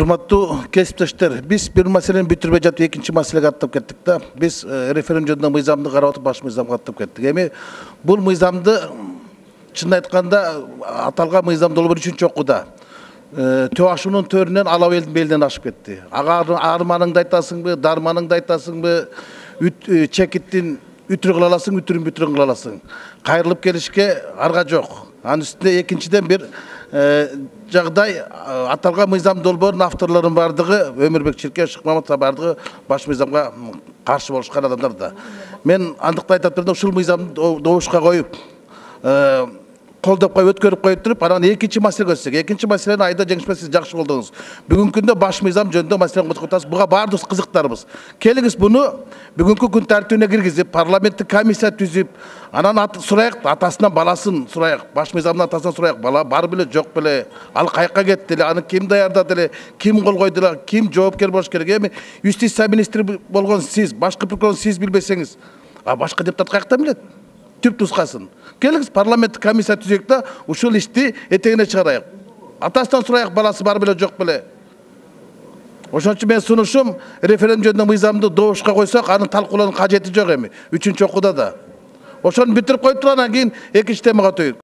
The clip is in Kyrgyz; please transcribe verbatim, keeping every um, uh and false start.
Урматтуу кесиптештер, биз бир маселени бүтүрбөй жатып экинчи маселеге аттап кеттик да. Биз референдум жөнүндө мыйзамды карап атып баш мыйзамга аттап кеттик. Эми бул мыйзамды чын айтканда аталган мыйзам долбоор үчүнчү окууда төө ашуунун төрүнөн ала элдин белинен ашып кетти. Ага арманыңды айтасыңбы, дарманыңды айтасыңбы, чекиттин үтүрү кыла аласың, үтүрүн бүтүрүн кыла аласың. Кайрылып келишке арга жок. Анын үстүнө экинчиден бир жагдай аталган мыйзам долбоорунун авторлорунун бардыгы Өмүрбек Чиркеев, Шыкмаматов бардыгы баш мыйзамга каршы болушкан адамдар да. Мен андыктан айтып турдум, ушул мыйзамды добушка коюп колдоп коюп өткөрүп коюп туруп, анан экинчи маселеге өтсөк. Экинчи маселени айда жеңишпен сиз жакшы колдоңуз. Бүгүнкү күндө баш мыйзам жөнүндө маселени козгоп атасыз. Буга баардыгыбыз кызыктарбыз. Келиңиз буну бүгүнкү күн тартибине киргизип, парламенттик комиссия түзүп, анан сурайык, атасынан баласын сурайык, баш мыйзамдын атасынан сурайык, бала бар беле, жок беле, ал кайка кетти эле, аны ким даярдады эле, ким кол койду эле, ким жоопкер болуш керек. Эми юстиция министри болгон сиз, башкы прокурор сиз билбесеңиз, а башка депутат каяктан билет? Түп тускасын. Келиңиз парламенттик комиссия түзөйүк да, ушул ишти этегине чыгарайык. Атасынан сурайык, баласы бар беле, жок беле. Ошон үчүн мен сунушум, референдум жөнүндө мыйзамды добушка койсок, анын талкуулоонун кажети жок эми. Үчүнчү окууда да. Ошону бүтүрүп коюп туруп, анан кийин экинчи темага өтөйүк.